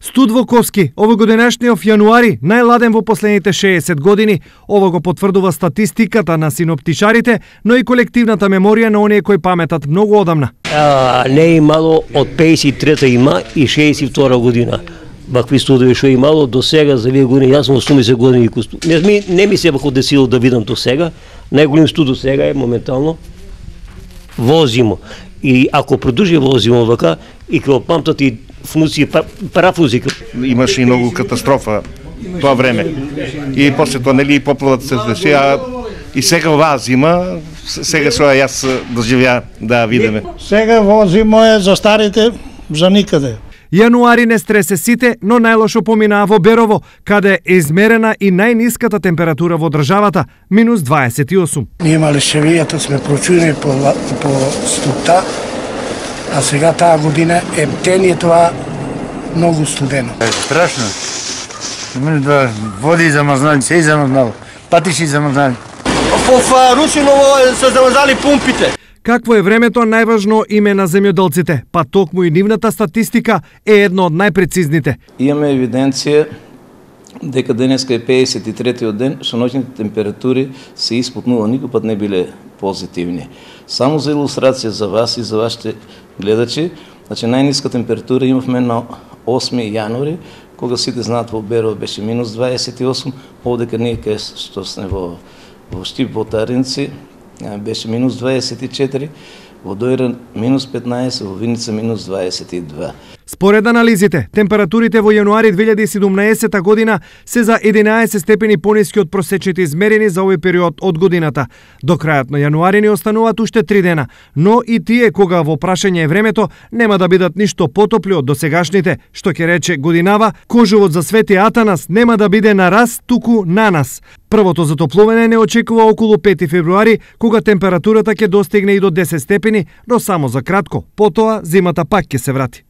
Студ во Ковски, овогодинешниот јануари, најладен во последните 60 години. Ово го потврдува статистиката на синоптичарите, но и колективната меморија на оние кои паметат многу одамна. Не е имало од 53-та има и 62 година. Вакви студови што имало до сега за вие години, јас сум 80 години. Не ми се бако десило да видам до сега. Најголем студо сега е моментално возимо. И ако продолжи возимо вака, и ќе памтат и функции парафузи. Имаше и многу катастрофа тоа време. И после тоа нели поплавата се деши, и сега оваа зима, сега што јас доживеа да видиме. Сега возимо е за старите за никаде. Јануари не стресе сите, но најлошо поминаа во Берово, каде е измерена и најниската температура во државата, минус 28. Ние имале шевијата, сме прочуни по ступта, а сега таа година ептен е тоа многу студено. Страшно. Да води замрзнали, се замрзнало, патиши замрзнали. Во Русиново се замрзнали пумпите. Какво е времето најважно име на земјоделците, па токму и нивната статистика е едно од најпрецизните. Имаме евиденција дека денеска е 53-тиот ден, што ноќните температури се испод нула, никој пат не биле позитивни. Само за илустрација за вас и за вашите гледачи, значи најниска температура имавме на 8 јануари, кога сите знаат во Берово беше минус 28, овдека ние кај што сме во Штип, во Таринци, беше минус 24, во Дојран минус 15, во Виница минус 22. Според анализите, температурите во јануари 2017 година се за 11 степени пониски од просечните измерени за овој период од годината. До крајот на јануари ни остануваат уште 3 дена, но и тие кога во прашање е времето нема да бидат ништо потопли од досегашните, што ќе рече годинава, кожувот за Свети Атанас нема да биде на раз, туку на нас. Првото затоплување не очекува околу 5 февруари, кога температурата ќе достигне и до 10 степени, но само за кратко, потоа зимата пак ќе се врати.